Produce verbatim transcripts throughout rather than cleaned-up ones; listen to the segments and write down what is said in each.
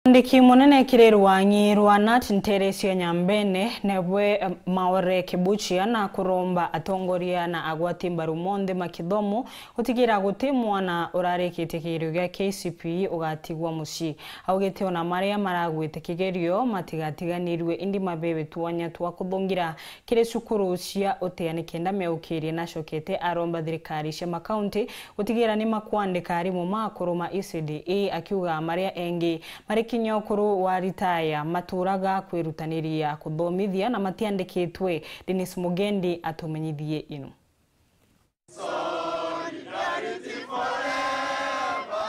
Mwandiki munene kiri rwang'i rwa nat ntere cia Nyambene, nebwe, eh, Maore Kibuchia, na kuromba atongoria na agwati mbaru monthe ma kithomo gutigira guti mwana urarikitie kigerio gia K C P E ugatigwa mucii. Augite ona maria maragwite kigerio matigatiganirue, indi mabewe twanya twa kuthungira kiri cukuru cia utia nikenda meukirie. Nacokete aromba thirikari cia makaunti gutigira ni makwandika arimu ma akuru ma E C D E, akiuga maria engi mari kinya ukuru wa ritaya maturaga kwirutaniria kuthomithia na matiandikitwe. Dennis Mugendi atumenyithie ino.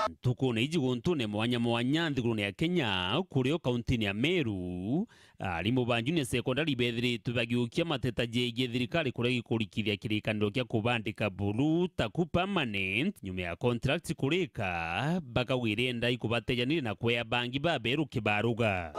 Ntukune iji guntune mwanya mwanya nthigurune ya Kenya, kurio kauntine ya Meru, arimu ba junior secondary bethiritwe bagiukia mateta jegie thirikari kuregi kurikithia kirikaniro kia kubandika buru taku permanent nyuma ya contract kurika, bakauga irenda ikubatejanire na kwea bangi baberu kibaruga.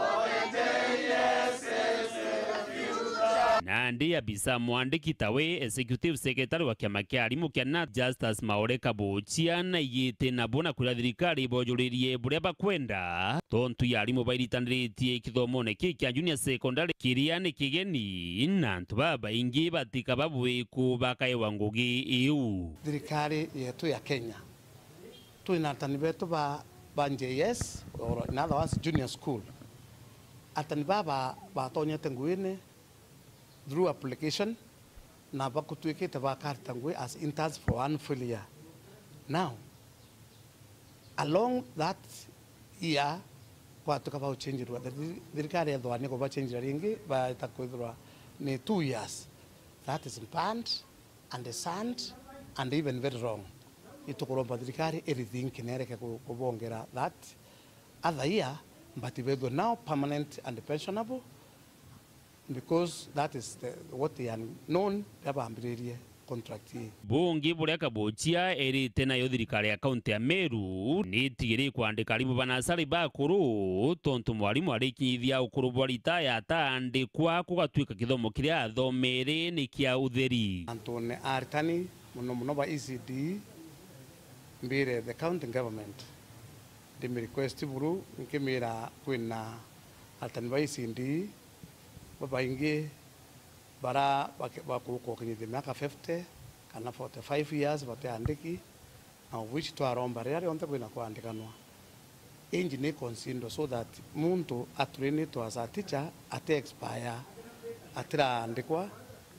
Nandi abisa mwandiki tawe executive secretary wa kiama kia arimu kia nat Justus Maore Kabuchia naigite nabo na kwira thirikari ibojuririe buria bakwenda, tontu ya arimu bairitaniritie kithomone kii kia junior secondary kiria ni kigeni na antu babaingi batikaba bwiku bakaewa ngugi iu. Thirikari yetu ya Kenya, twina arutani betu ba, ba J S, or in other words, junior school. Arutani baba batonyete nguine through application, na bakutwikite bakarita ngui as interns for one full year. Now, along that year, kwatuka bauchenjirwa, the thir-, thirikari ethwa ni kubachenjira ringi, baeta kwithirwa ni two years. That is banned and shunned and even very wrong. Itukuromba thirikari irithinki nereke ku-, kubongera that other year, but bethwe now permanent and pensionable, because that is the, what they are known, riria bambiririe contract ii. Bungi buria Kabuchia erite nayo thirikari ya kaunti ya Meru ni itigiri kwandika arimu ba nasari bakuru, tontu mwarimu arikinyithia ukuru bwa ritaya ataandikwa, kugatwika kithomo kiria athomere ni kia utheri. Antune aritani, mono mono ba E C D, mbire the county government, ndimi request buru, nkimira kwina aritani ba E C D babaingi bara bake-, bakuruka ukinyithia miaka fifty kana forty-five years batiandiki, na of which twaromba riria rionthe kwina kwandikanwa. Inji ni consider so that muntu atrainitwe as a teacher ati expire, atiraandikwa,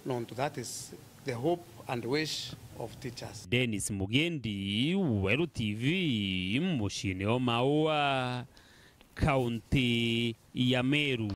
nontu that is the hope and wish of teachers. Dennis Mugendi, Weru T V, muciine o Maua, kaunti ya Meru.